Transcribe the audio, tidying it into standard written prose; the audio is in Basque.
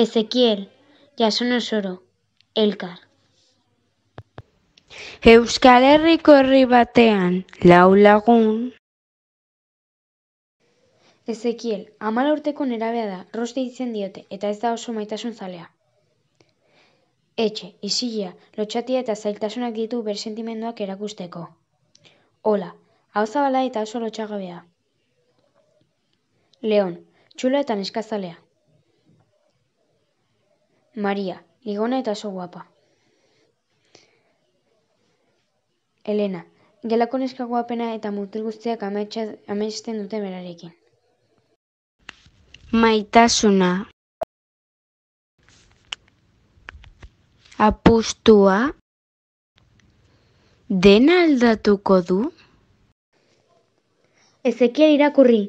Ezekiel, Jason Osoro, Elkar. Euskal Herriko herri batean 4 lagun. Ezekiel, 14 urteko nerabea da, Ros deitzen diote, eta ez da oso maitasun zalea. Etxe, isilea, lotxatia eta zailtasunak ditu bere sentimenduak erakusteko. Ola, hau zabala eta oso lotxagabea. Leon, txulo eta neskazalea. Maria, ligona eta oso guapa. Elena, gelako neska guapena eta mutil guztiak amesten dute berarekin. Maitasuna. Apustua. Dena aldatuko du? Ezekiel irakurri.